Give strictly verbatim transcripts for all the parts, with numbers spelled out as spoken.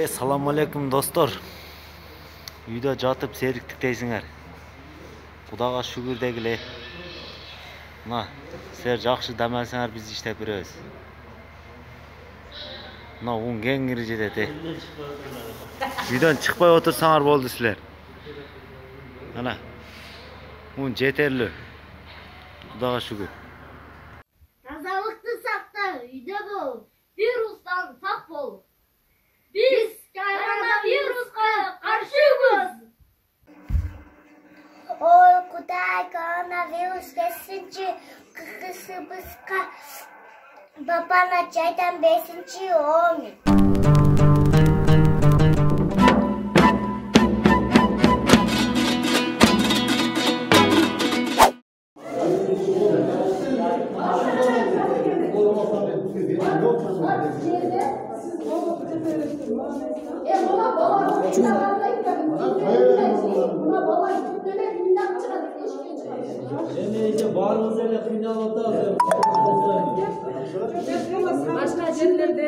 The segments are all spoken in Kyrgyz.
Assalamu alaikum dostlar. Үйдө жатып сериктиктейсиңер. Кудайга шүгүр дегиле. Мына, силер жакшы дам алсаңар биз иштеп беребиз. Мына он кеңири жетет. Үйдөн чыкпай отурсаңар болду силер. Мына. Он жетерлүү. Кудайга шүгүр. Тазалыкты сакта, үйдө бол. Вирустан сак бол. Biz koronavirüske karşıyız. Ой, Кудай, коронавирус бесинчи кысыбызга бабана чайдан бесинчи омик. Barımız ele kıynalı da Başka yerlerde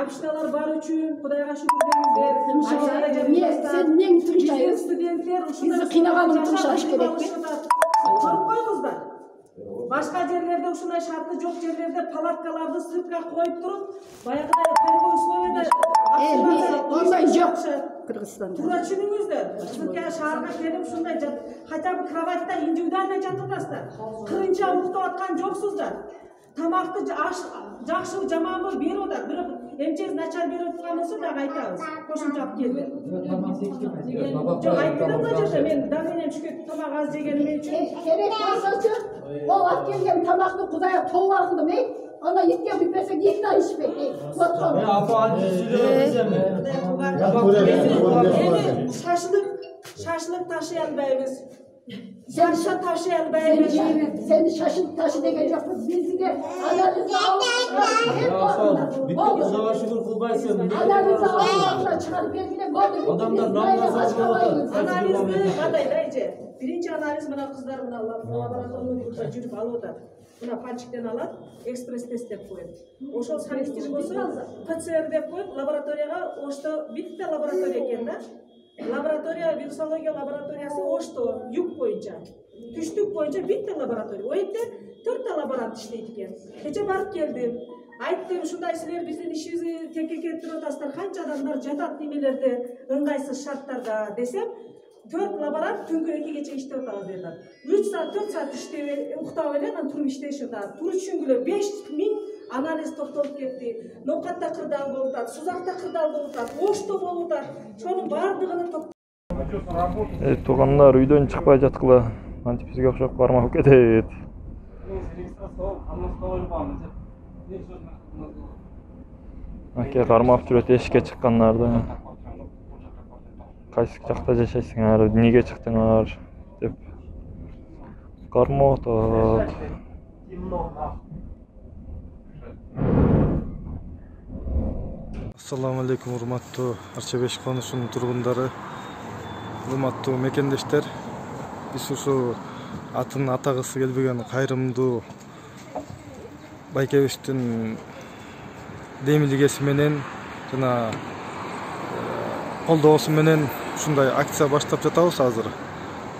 Abiştalar var üçün, Kudayga şükür denizler. Sen neyin Türkçayı? Studentler, Bizi kıynaganın Türkçayı gerek mi? Korup koyunuzlar. Başka yerlerde, uşunday şartlı çok yerlerde palatkalarda sırtka koyup durup, bayağıda pergo üsmevede Onday yok Kırgızistan'da. Turacınыңыздар. Türkiye şaharga kelip şunday hatta bir kravatta individualda жатырсыздар. Кырынча уктап аткан жоксуздар. Тамакты жакшы жаман болуп берип атат. Бирок эмчеси начар берип аткан болсо дагы айтабыз. Кошумча алып келди. Жок айтпадым да жерде мен давлением түшкөн тамак аз жегеним үчүн. Керек болсочу, ол алып келген тамакты Кудайга тобо алгындым, ey. Ona itke büpesek ikna içmek, ey. Otur. Ya apa anca sürüyoruz ya mı? Şaşlık, şaşlık taşıyanbayız. Sen Şaşlık taşıyanbayız. Seni şaşılık taşı degen yokuz. Bizde analizi alıp Bütün kızağa şükür kılbaysın. analizi alıp çıkarıp belgine koyduk. Adamlar namaz açmadı. Analizni qanday dayje? Birinchi analiz mana qizlar mana laboratoriyada жүрүп алып атат. Мына пальчиктен алат, экспресс тест деп коет. Ошол санитир болсо ПЦР деп коет, лабораторияга Ошто битте лаборатория экен да. Лаборатория, вирусология лабораториясы Ошто, юг боюнча. Түштүк боюнча битте лаборатория. О жерде төрттө лаборант иштейт экен. Кече барып келдим. Айттым, ушундай силер биздин ишибизди текке келтирип атасыздар, канча адамдар жатат немелерде, ыңгайсыз шарттарда десем, төрт лаборант түнгө экигече иштеп атабыз дедилер. үч саат, төрт саат иштеп, уктап эле, анан туруп иштешип атат. Туруп түшүнгүлө беш миң анализ топтолуп кетти. Ноокатта кырдаал болуп атат, сузакта кырдаал болуп атат, Ошто болуп атат. Шонун баардыгынын Ey туугандар, үйдөн чыкпай жаткыла. Антип бизге окшоп кармап кетет. Аке кармап жүрөт эшикке чыккандарды. Кайсы жакта жашайсыңар, эмнеге чыктыңар деп кармап атат. Assalamu alaikum, урматтуу Арча беш конушунун тургундары, урматтуу мекендештер. Биз ушу атын атагысы келбеген кайрымдуу байкебиштин демилгеси менен жана колдоосу менен ушундай акция баштап жатабыз азыр.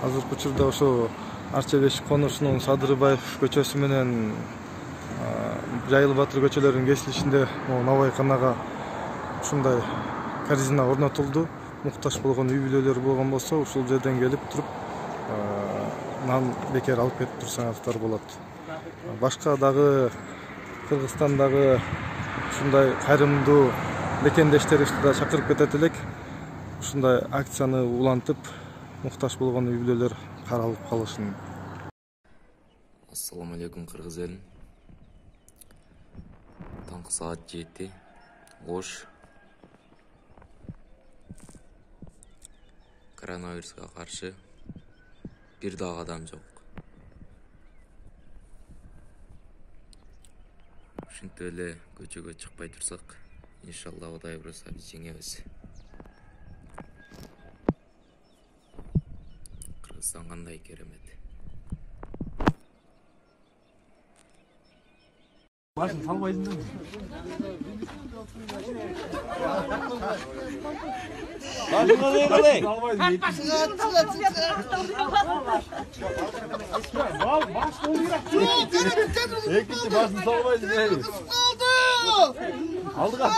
Азыркы учурда ошо Арча беш конушунун Садырбаев көчөсү менен Жайыл Батыр көчөлөрүнүн кесилишинде набайканага ушундай корзина орнотулду. Муктаж болгон үй бүлөлөр болгон болсо, ушул жерден келип туруп нан бекер алып кетип турсаңыздар болот. Башка дагы Кыргызстандагы ушундай кайрымдуу мекендештерибизди да чакырып кетет элек. Ушундай акцияны улантып, муктаж болгон үй бүлөлөр каралып калышын. Ассаламу алейкум кыргыз элин. Таңкы саат жети. Ош. Коронавируска каршы бир дагы адам жок. Ушинтип эле көчөгө чыкпай турсак, иншалла Кудай буйруса биз жеңебиз. Кыргызстан кандай керемет. Башын салбайсың да. Башын қалай қалай? Салбайсың. Баш толығырақ. Екінші башын салбайсың. Алдыға.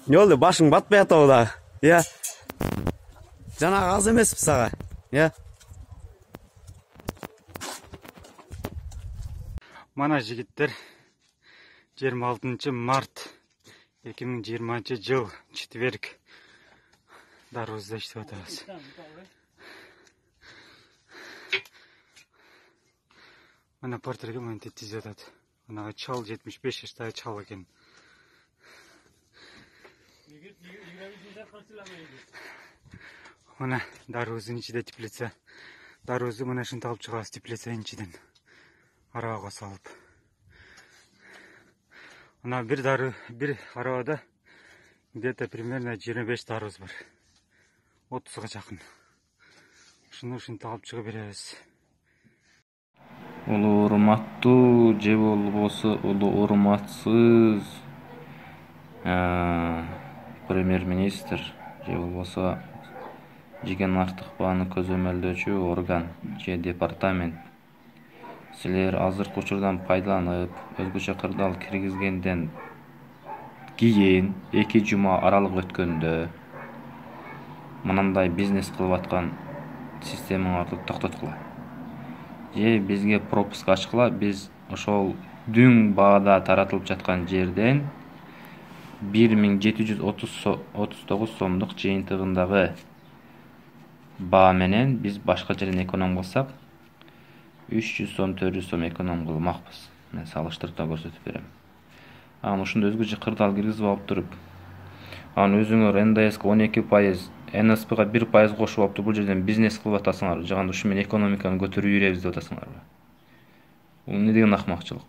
Ne oldu? Başın batmay atağı da. Ya. Cana az emesip sağa. Ya. Mana жигиттер жыйырма алтынчы март эки миң жыйырманчы жыл четверг дарыбызда иштеп атабыз. Мына портреге мынтип тизип атат. Мына чал жетимиш беш жаштагы чал экен. Мына дарыбыздын ичинде теплица. Дарыбызды мына ушинтип алып чыгабыз теплицанын ичинен. Арабага салып. Мына бир дары, бир арабада где-то примерно жыйырма беш дарыбыз бар. отузга жакын. Ушуну ушинтип алып чыгып беребиз. Улуу урматтуу же болбосо улуу урматсыз премьер-министр же болбосо Жиген Артыкбааны көзөмөлдөөчү орган же департамент силер азыркы учурдан пайдаланып өзгөчө кырдаал киргизгенден кийин эки жума аралык өткөндө мынандай бизнес кылып аткан системаңарды токтоткула же бизге пропуск ачкыла, биз ошол дүң баада таратылып жаткан жерден бир миң жети жүз отуз тогуз сомдук жыйынтыгындагы баа менен биз башка жерден эконом кылсак үч жүз сом төрт жүз сом эконом кылмакпыз. Мен салыштырып көрсөтүп берем. Анан ушунда өзгөчө кырдаал киргизип алып туруп, анан өзүңөр эн дэ эске он эки пайыз, эн эс пэга бир пайыз кошуп алып туруп бул жерден бизнес кылып атасыңар, жаганда ушу менен экономиканы көтөрүп жүрөбүз деп атасыңарбы? Бул эмне деген акмакчылык?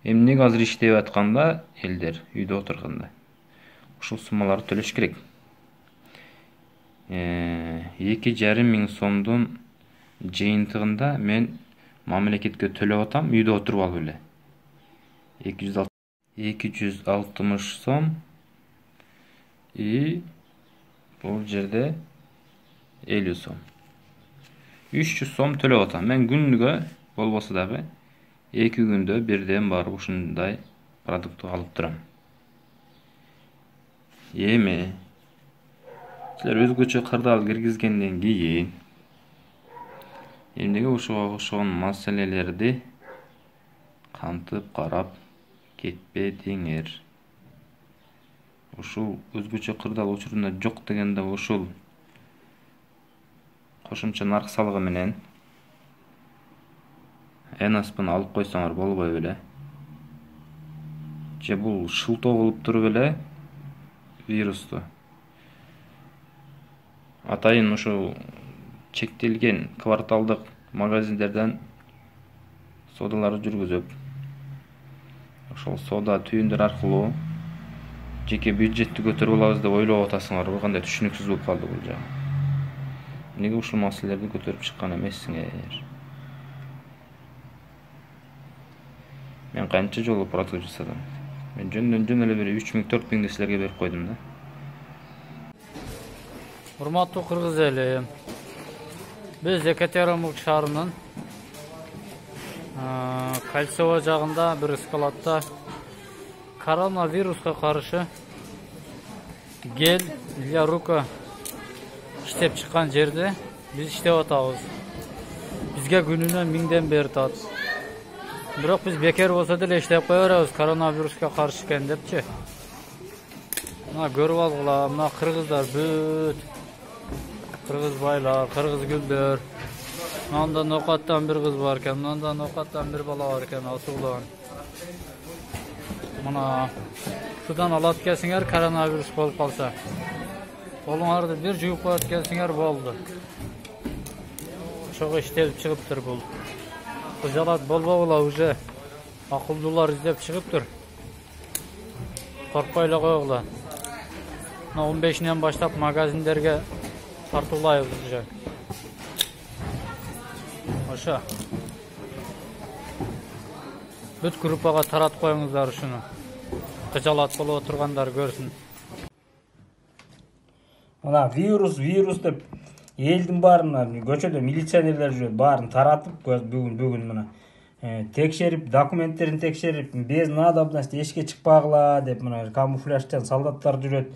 Эмнеге азыр иштеп атканда элдер үйдө отурганда ушул суммаларды төлөш керек. эки жарым миң сомдун жыйынтыгында мен мамлекетке төлөп атам, үйдө отуруп алып эле. эки жүз алтымыш сом и бул жерде элүү сом. үч жүз сом төлөп атам. Мен күнгө болбосо дагы эки күндө бирден барып ушундай продукт алып турам. Эми силер өзгөчө кырдаал киргизгенден кийин эмнеге ушуга окшогон маселелерди камтып карап кетпедиңер? Ушул өзгөчө кырдаал учурунда жок дегенде ушул кошумча нарк салыгы менен эн эс пэни алып койсоңор болбой беле? Же бул шылтоо кылып туруп эле вирусту атайын ушул чектелген кварталдык магазиндерден содаларды жүргүзүп, ошол сода түйүндөр аркылуу жеке бюджетти көтөрүп алабыз деп ойлоп атасыңарбы? Кандай түшүнүксүз болуп калды бул жагы. Эмнеге ушул маселелерди көтөрүп чыккан эмессиңер? Мен канча жолу продукт жасадым. Мен жөндөн жөн эле бир үч миң төрт миңди силерге берип койдум да. Урматтуу кыргыз эли, биз Екатеринбург шаарынын Кольцово жагында бир складда коронавируска каршы гель для рука иштеп чыккан жерде биз иштеп атабыз. Бизге күнүнө миңден бери тат. Бирок биз бекер болсо деле иштеп кое беребиз, коронавируска каршы экен депчи. Мына көрүп алгыла, мына кыргыздар бүт. Кыргыз байлар, кыргыз гүлдөр. Мындан ноокаттан бир кыз бар экен, мындан ноокаттан бир бала бар экен, асуулган. Мына судан алат экенсиңер, коронавирус болуп калса. Колуңарды бир жууп коет экенсиңер болду. Ошого иштелип чыгыптыр бул. Кыжалат болбогула, уже акылдуулар издеп чыгыптыр. Коркпой эле койгула. Мына он бешинен баштап магазиндерге тартуулайбыз уже. Ошо. Бүт группага таратып коюңуздар ушуну. Кыжалат болуп отургандар көрсүн. Мына вирус, вирус деп элдин баарына көчөдө милиционерлер жүрөт, баарын таратып бүгүн бүгүн мына текшерип, документтерин текшерип, без надобности эшикке чыкпагыла деп мына камуфляжчан солдаттар жүрөт.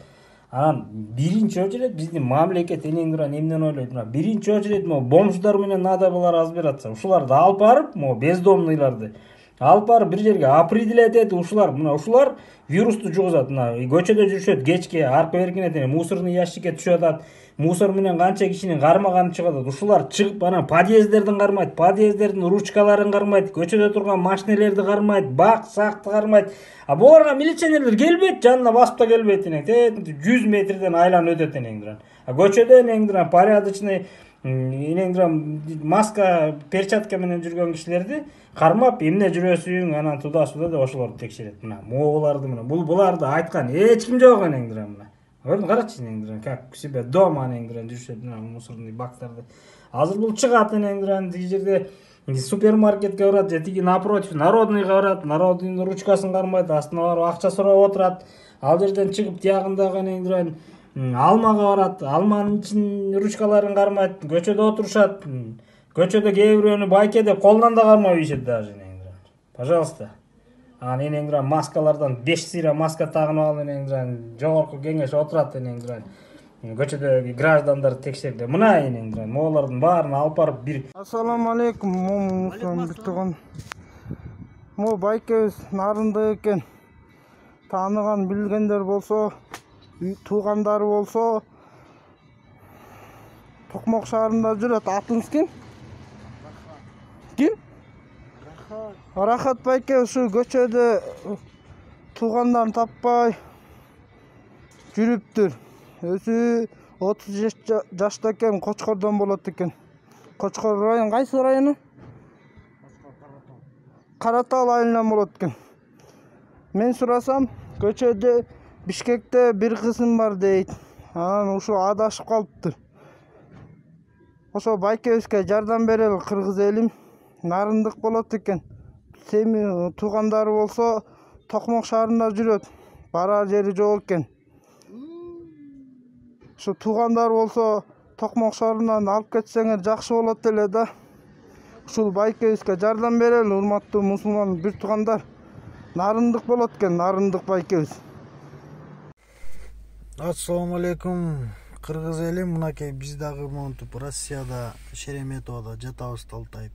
Анан биринчи очередь биздин мамлекет энеңдир эмнен ойлойт? Мына биринчи очередь могу бомждар менен надобалар аз бератса, ушуларды алып барып, могу бездомныйларды алып барып бир жерге определять этип, ушулар мына ушулар вирусту жугузат. Мына көчөдө жүрүшөт, кечке арка беркинет, мусорный ящикке түшүп атат. Мусор менен канча кишинин кармаганы чыгып атат. Ушулар чыгып анан подъездердин кармайт, подъездердин ручкаларын кармайт, көчөдө турган машинелерди кармайт, бак, сакты кармайт. А буларга милиционерлер келбейт, жанына басып да келбейт энең. жүз метрден айланып өтөт энеңдир. А көчөдө энеңдир порядочный энеңдир маска, перчатка менен жүргөн кишилерди кармап, эмне жүрөсүң, анан туда-суда деп ошолорду текшерет. Мына могуларды мына бул буларды айткан эч ким жок энеңдир мына. Көрдүң, карачы энеңдир, как себе дома энеңдир жүрүшөт мына мусорный бактарды. Азыр бул чыгат энеңдир, тиги жерде супермаркетке барат, же тиги напротив народныйга барат, народныйдын ручкасын кармайт, астына барып акча сурап отурат. Ал жерден чыгып тиягындагы энеңдир алмага барат, алманын ичин ручкаларын кармайт, көчөдө отурушат. Көчөдө кээ бирөөнү байке деп колунан да кармап ийишет даже энеңдир. Пожалуйста. Анан энеңдир маскалардан беш сыйра маска тагынып алып энеңдир жогорку кеңеш отурат энеңдир. Көчөдө граждандар текшерди. Мына энеңдир могулардын баарын алып барып бир. Ассаламу алейкум, момусун бүтүгөн. Мо байкебиз нарынды экен. Тааныган билгендер болсо, туугандары болсо, Токмок шаарында жүрөт. Атыңыз ким? Ким? Рахат байке ушу көчөдө туугандарын таппай жүрүптүр. Өзү отуз жашта экен, Кочкордон болот экен. Кочкор район, кайсы району? Каратал айылынан болот экен. Мен сурасам, көчөдө Бишкекте бир кызым бар дейт. Анан ушу адашып калыптыр. Ошо байкебизге жардам берели, кыргыз элим. Нарындык болот экен. Семи туугандары болсо Токмок шаарында жүрөт. Барар жери жок экен. Ошо туугандар болсо Токмок шаарынан алып кетсеңер жакшы болот эле да. Ушул байкебизге жардам берели, урматтуу мусулман бир туугандар. Нарындык болот экен, нарындык байкебиз. Ассаламу алейкум, кыргыз элим. Мынакей биз дагы монтип Россияда, Шереметоводо жатабыз талтайып.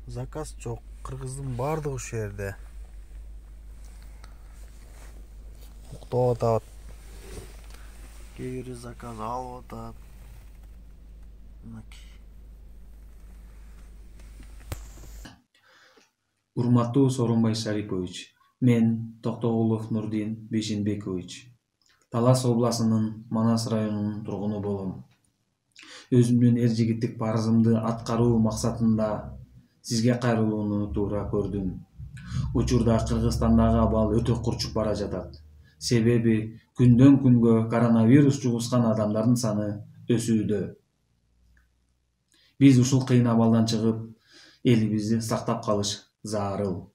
Заказ жок, кыргыздын баардыгы ушул жерде. Уктап атат. Кээ бири заказ алып атат. Мынакей. Урматтуу Сооронбай Шарипович, мен Токтогулов Нурдин Бейшенбекович. Талас областынын Манас районунун тургуну болом. Өзүмдүн эр жигиттик парызымды аткаруу максатында сизге кайрылууну туура көрдүм. Учурда Кыргызстандагы абал өтө курчуп бара жатат. Себеби күндөн күнгө коронавирус жугузган адамдардын саны өсүүдө. Биз ушул кыйын абалдан чыгып, элибизди сактап калыш зарыл.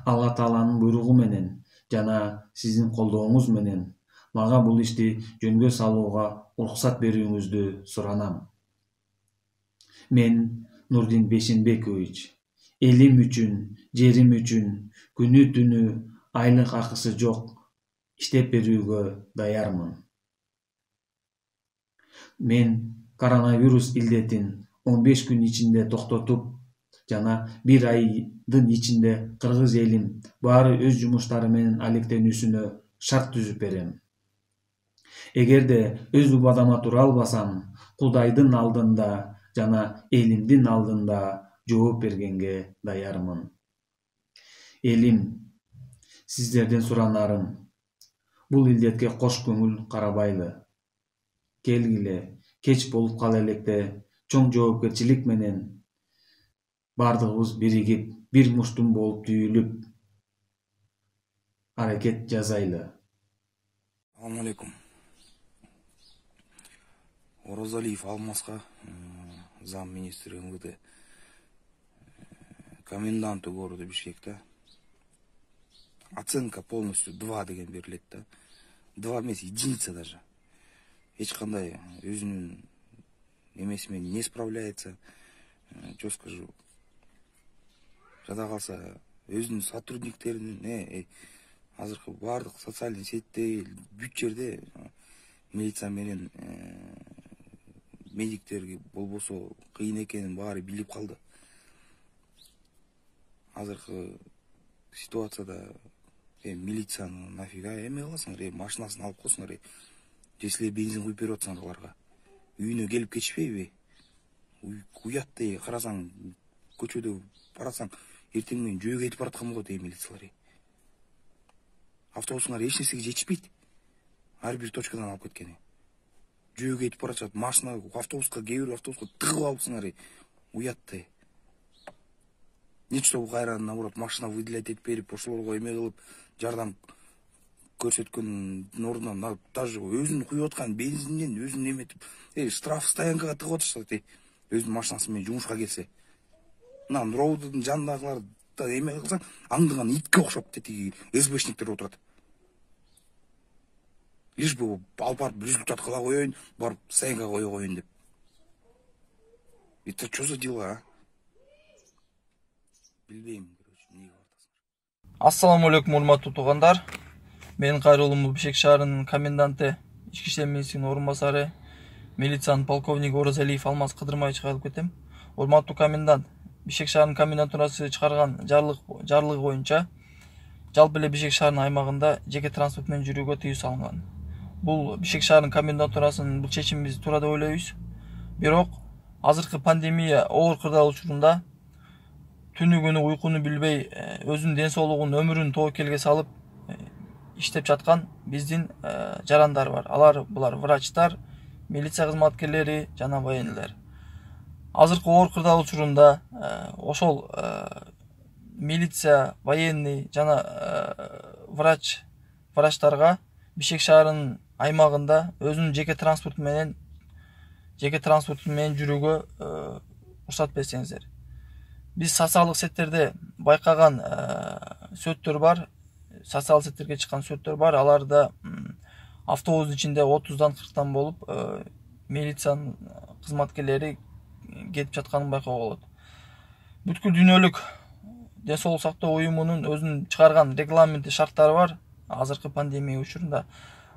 Алла Тааланын буйругу менен жана сиздин колдооңуз менен мага бул ишти жөнгө салууга уруксат берүүңүздү суранам. Мен Нурдин Бейшенбекович, элим үчүн, жерим үчүн күнү түнү айлык акысы жок иштеп берүүгө даярмын. Мен коронавирус илдетин он беш күн ичинде токтотуп, жана бир айдын ичинде кыргыз элим баары өз жумуштары менен алектенүүсүнө шарт түзүп берем. Эгерде өз убадама тура албасам, Кудайдын алдында жана элимдин алдында жооп бергенге даярмын. Элим, сиздерден суранарым, бул илдетке кош көңүл карабайлы. Келгиле, кеч болуп кала электе чоң жоопкерчилик менен бардыгыбыз биригип, бир муштум болуп түйүлүп аракет жасайлы. Assalamu alaikum. Оразалиев Алмаска, зам министри эм вэ дэ, коменданту города Бишкекте. Оценка полностью два деген берилет да. два эмес, единица даже. Эч кандай өзүнүн эмеси менен не справляется. Что скажу? Жада калса өзүнүн сотрудниктеринин, э, азыркы бардык социальный сетте, бүт жерде милиция менен медиктерге болбосо кыйын экенин баары билип калды. Азыркы ситуацияда э, милицияны нафига эме кыласыңар, э, машинасын алып койсуңар, э, если бензин куюп берип атсаңар аларга. Үйүнө келип кетишпейби? Уят дей, карасаң, көчөдө барасаң, эртең менен жөө кетип бараткан болот, э, милициялар. Автобусуңар эч нерсеге жетишпейт. Ар бир точкадан алып кеткени. Жөө кетип баратат, машина, автобуска, кээ бир автобуска тыгып алыпсыңар, уят дей. Нечто бул кайра наоборот машина выделять этип берип, ошолорго эме кылып, жардам көрсөткөндүн ордуна даже өзүнүн куюп аткан бензинден өзүн эметип, э, штраф стоянкага тыгып атышат, э, өзүнүн машинасы менен жумушка келсе. Мына Нуровдун жанындагылар эме кылсаң, аңдыган итке окшоп тетиги эс бэ-шниктер отурат. Лишь бы алып барып результат кыла коеюн, барып стоянкага кое коеюн деп. Это что за дела, а? Билбейм, короче, эмнеге бардыңар. Ассаламу алейкум, урматтуу туугандар. Менин кайрылуум Бишкек шаарынын коменданты, ички иштер министринин орун басары, милициянын полковниги Оразалиев Алмаз Кыдырмаевичке кайрылып кетем. Урматтуу комендант, Бишкек шаарынын комендатурасы чыгарган жарлык жарлыгы боюнча жалпы эле Бишкек шаарынын аймагында жеке транспорт менен жүрүүгө тыюу салынган. Бул Бишкек шаарынын комендатурасынын бул чечимин биз туура деп ойлойбуз. Бирок азыркы пандемия оор кырдаал учурунда түнү күнү уйкуну билбей, өзүнүн ден соолугун, өмүрүн тобокелге салып иштеп жаткан биздин жарандар бар. Алар булар врачтар, милиция кызматкерлери жана военныйлар. Азыркы оор кырдаал учурунда ошол милиция, военный жана врач врачтарга Бишкек шаарынын аймагында өзүнүн жеке транспорт менен жеке транспорт менен жүрүүгө уруксат берсеңиздер. Биз социалдык сеттерде байкаган сөттөр бар, социалдык сеттерге чыккан сөттөр бар. Аларда автобустун ичинде отуздан кырктан болуп милициянын кызматкерлери кетип жатканын байкоого болот. Бүткүл дүйнөлүк ден соолук сактоо уюмунун өзүнүн чыгарган регламенти, шарттары бар. Азыркы пандемия учурунда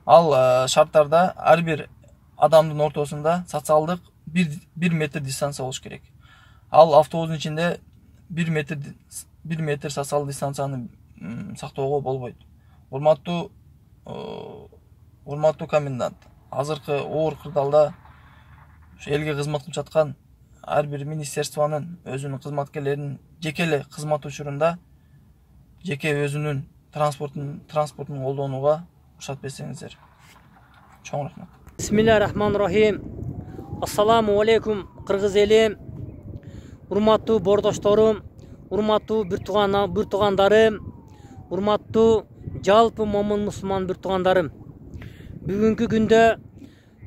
ал шарттарда ар бир адамдын ортосунда социалдык бир метр дистанция болуш керек. Ал автобустун ичинде бир метр бир метр социалдык дистанцияны сактоого болбойт. Урматтуу урматтуу комендант, азыркы оор кырдаалда элге кызмат кылып жаткан ар бир министерствонун өзүнүн кызматкерлеринин жеке эле кызмат учурунда жеке өзүнүн транспортун транспортун колдонууга уруксат берсеңиздер. Чоң рахмат. Бисмиллахиррахманиррахим. Ассаламу алейкум, кыргыз эли, урматтуу бордошторум, урматтуу бир тууган бир туугандарым, урматтуу жалпы момун мусулман бир туугандарым. Бүгүнкү күндө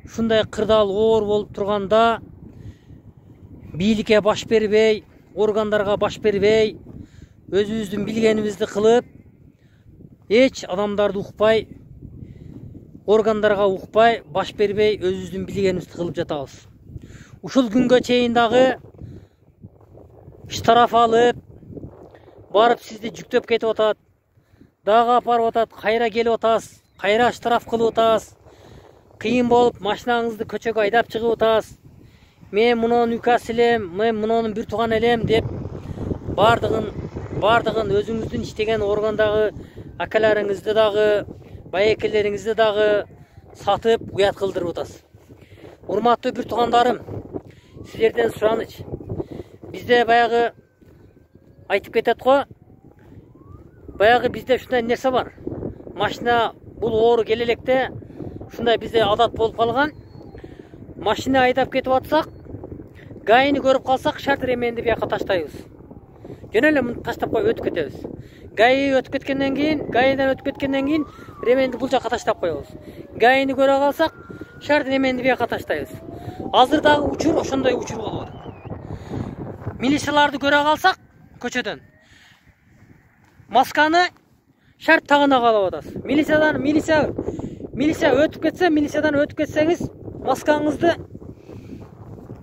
ушундай кырдаал оор болуп турганда бийликке баш бербей, органдарга баш бербей, өзүбүздүн билгенибизди кылып, эч адамдарды укпай, органдарга укпай, баш бербей, өзүбүздүн билгенибизди кылып жатабыз. Ушул күнгө чейин дагы штраф алып, барып сизди жүктөп кетип атат, дагы апарып атат, кайра келип атасыз, кайра штраф кылып атасыз, кыйын болуп машинаңызды көчөгө айдап чыгып атасыз. Мен мунун үкасы элем, мен мунун бир тууган элем деп бардыгын бардыгын өзүңүздүн иштеген органдагы акаларыңызды дагы, байекелериңизди дагы сатып уят кылдырып атасыз. Урматтуу бир туугандарым, силерден сураныч. Бизде баягы айтып кетет го, баягы бизде ушундай нерсе бар. Машина бул оору келе электе ушундай бизде адат болуп калган. Машина айдап кетип атсак, гайыны көрүп калсак, шарт ременди бияка таштайбыз. Жөн эле муну таштап коюп өтүп кетебиз. Гайы өтүп кеткенден кийин, гайыдан өтүп кеткенден кийин ременди бул жака таштап коебуз. Гайыны көрө калсак, шарт ременди бияка таштайбыз. Азыр дагы учур ошондой учур болуп атат. Милицияларды көрө калсак, көчөдөн масканы шарт тагына калып атасыз. Милициядан милиция милиция өтүп кетсе, милициядан өтүп кетсеңиз, маскаңызды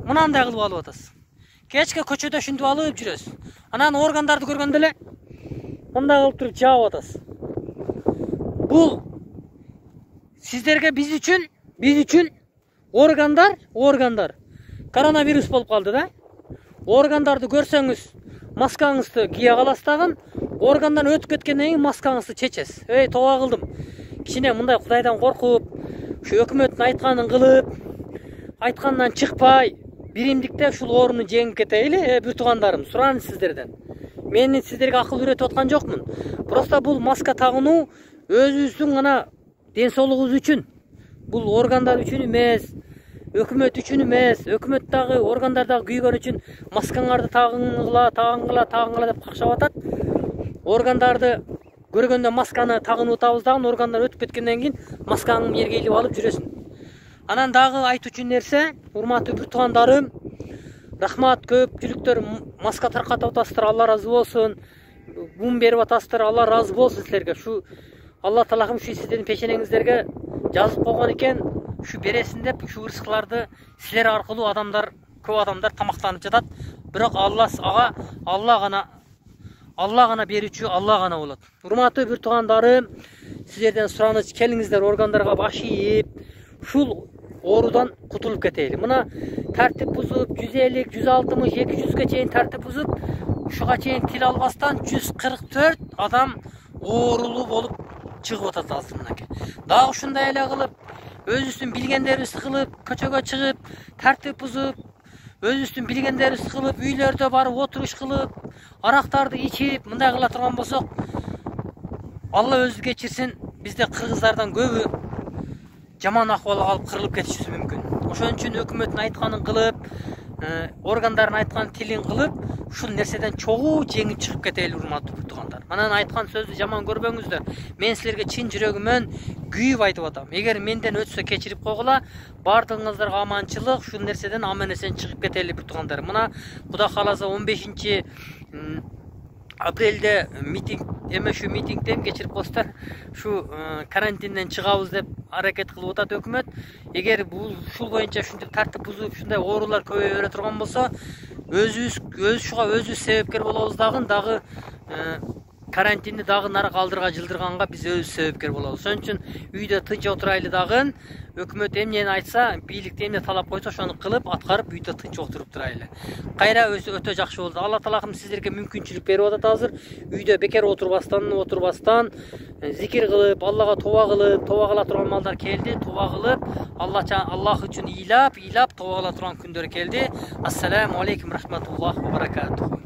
мынандай кылып алып атасыз. Кечке көчөдө ушинтип алып жүрөсүз. Анан органдарды көргөндө эле мындай кылып туруп жаап атасыз. Бул сиздерге биз үчүн, биз үчүн органдар, органдар коронавирус болуп калды да. Органдарды көрсөңүз, маскаңызды кие каласыз дагы, органдан өтүп кеткенден кийин маскаңызды чечесиз. Эй, тооба кылдым. Кичине мындай Кудайдан коркуп, ушу өкмөттүн айтканын кылып, айткандан чыкпай, биримдикте ушул ооруну жеңип кетейли. Э, бир туугандарым, сураныч сиздерден. Мен сиздерге акыл үйрөтүп аткан жокмун. Просто бул маска тагынуу өзүбүздүн гана ден соолугубуз үчүн. Бул органдар үчүн эмес, өкмөт үчүн эмес, өкмөт дагы, органдар дагы күйгөн үчүн маскаңарды тагынгыла, тагынгыла, тагынгыла деп какшап атат. Органдарды көргөндө масканы тагынып атабыз дагы, органдар өтүп кеткенден кийин маскаңды жерге илип алып жүрөсүң. Анан дагы айтуучу нерсе, урматтуу бир туугандарым, рахмат, көпчүлүктөр маска таркатып атасыздар, Алла разы болсун. Мун берип атасыздар, Алла разы болсун силерге. Ушу Алла Таалам ушу сиздердин пешенеңиздерге жазып койгон экен, ушу бересин деп, ушу ырыскыларды силер аркылуу адамдар, көп адамдар тамактанып жатат. Бирок Алла ага Алла гана Алла гана берүүчү, Алла гана болот. Урматтуу бир туугандарым, силерден сураныч, келиңиздер органдарга баш ийип, ушул оорудан кутулуп кетели. Мына тартип бузуп, жүз элүү, жүз алтымыш, эки жүзгө чейин тартип бузуп, ушуга чейин тил албастан жүз кырк төрт адам оорулуу болуп чыгып атат азыр мынакей. Дагы ушундай эле кылып, өзүбүздүн билгендерибизди кылып, көчөгө чыгып, тартип бузуп, өзүбүздүн билгендерибизди кылып, үйлөрдө барып отуруш кылып, арактарды ичип, мындай кыла турган болсок, Алла өзү кечирсин, бизде кыргыздардан көбү жаман акыбалга алып кырылып кетишибиз мүмкүн. Ошон үчүн өкмөттүн айтканын кылып, органдардын айткан тилин кылып, ушул нерседен чогуу жеңип чыгып кетели, урматтуу бир туугандар. Манан айткан сөздү жаман көрбөңүздөр. Мен силерге чын жүрөгүмөн күйүп айтып атам. Эгер менден өтсө кечирип койгула, бардыгыңыздарга аманчылык, ушул нерседен аман эсен чыгып кетели бир туугандар. Мына Кудай кааласа он бешинчи апрелде митинг, эме ушу митингден кечирип коесуздар, ушу карантинден чыгабыз деп аракет кылып атат өкмөт. Эгер бул ушул боюнча ушинтип тартип бузуп, ушундай оорулар көбөйө бере турган болсо, өзүбүз өз ушуга өзүбүз себепкер болобуз дагы, дагы карантинди дагы нары калдырга жылдырганга биз өзүбүз себепкер болобуз. Ошон үчүн үйдө тынч отурайлы дагы, өкмөт эмнени айтса, бийликте эмне талап койсо ошону кылып, аткарып үйдө тынч отуруп турайлы. Кайра өтө жакшы болду. Алла Таалам сиздерге мүмкүнчүлүк берип атат азыр. Үйдө бекер отурбастан, отурбастан, зикир кылып, Аллага тоба кылып, тоба кыла турган малдар келди, тоба кылып, Аллах үчүн ыйлап, ыйлап тоба кыла турган күндөр келди. Ассаламу алейкум рахматуллахи ва баракатуху.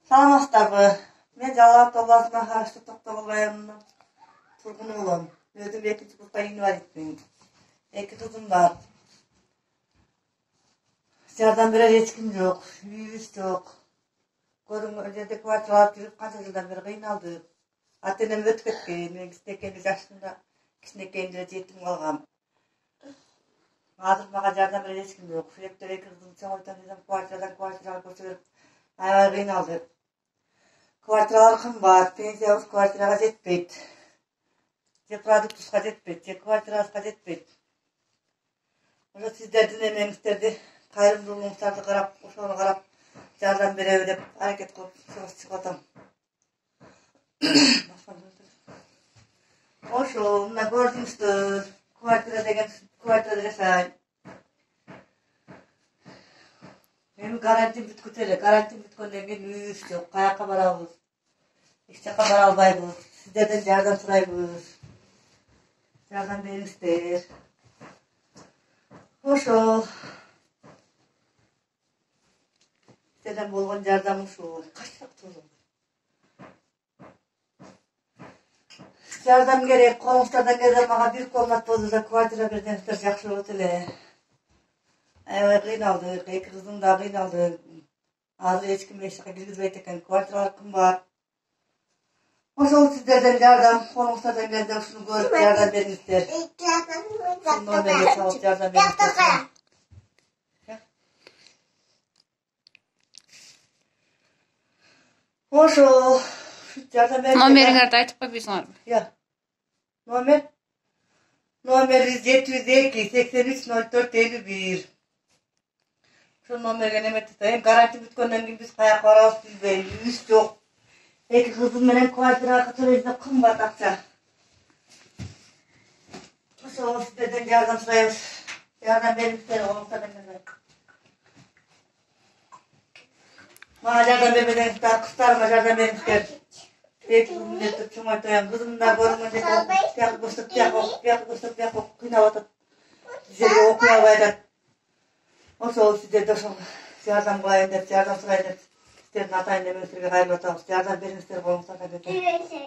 Саламатсыздарбы? Мен Жалал Абад областына караштуу Токтогул районунун тургуну болом. Өзүм экинчи курста инвалидмин. Эки кызым бар. Жардам берер эч ким жок, үйүбүз жок. Көрүнгөн жерде квартиралап жүрүп канча жылдан бери кыйналдык. Ата энем өтүп кеткен, мен кичинекей жашымда кичинекейимде жетим калгам. Азыр мага жардам берер эч ким жок. Сүрөктөр эки кызым чоңойтон десем, квартирадан квартирага көчө берип, аябай кыйналдык. Квартиралар кымбат, пенсиябыз квартирага жетпейт. Же продуктубузга жетпейт, же квартирабызга жетпейт. Ошо сиздердин эмеңиздерди, кайрымдуулугуңуздарды карап, ошону карап жардам береби деп аракет кылып чыгып атам. Ошо мына көрдүңүздөр, квартира деген квартирада жашайм. карантин бүткүтө эле. Карантин бүткөндөн кийин үйүбүз жок. Каяка барабыз? Эч жака бара албайбыз. Сиздерден жардам сурайбыз. Жардам бериңиздер. Ошол. Сиздерден болгон жардам ушул. Качак тозун. Жардам керек. Колуңуздардан келсе мага бир комнатада квартира берсеңиздер жакшы болот эле. Аябай кыйналдык, эки кызым да кыйналды. Азыр эч ким эч жака киргизбейт экен, квартиралар кымбат. Ошол сиздерден жардам, колуңуздардан келсе ушуну көрүп жардам бериңиздер. Номерге чалып жардам бериңиздер. Ошол жардам бериңиздер. Номериңерди айтып койбойсуңарбы? Я. Номер? Номери жети жүз эки сексен үч ноль төрт элүү бир. Ошол номерге неметсем, карантин бүткөндөн кийин биз каяка барабыз билбейм, үйүбүз жок. Эки кызым менен квартирага төлөйбүз, кымбат акча. Ошол сиздерден жардам сурайбыз. Жардам бериңиздер, колуңуздардан келсе. Мага жардам бербесеңиздер, кыздарыма жардам бериңиздер. Эки күндө чоңойтоюн, кызым да көрүнгөн жерде тияк көрсөтүп, тияк окуп, тияк көрсөтүп, тияк окуп кыйнап атат. Жерге окуй албай атат. Ошол сиздерде ошол жардам кылайын деп, жардам сурайын деп, сиздердин атайын эмеңиздерге кайрылып атабыз. Жардам бериңиздер, колуңуздардан келсе.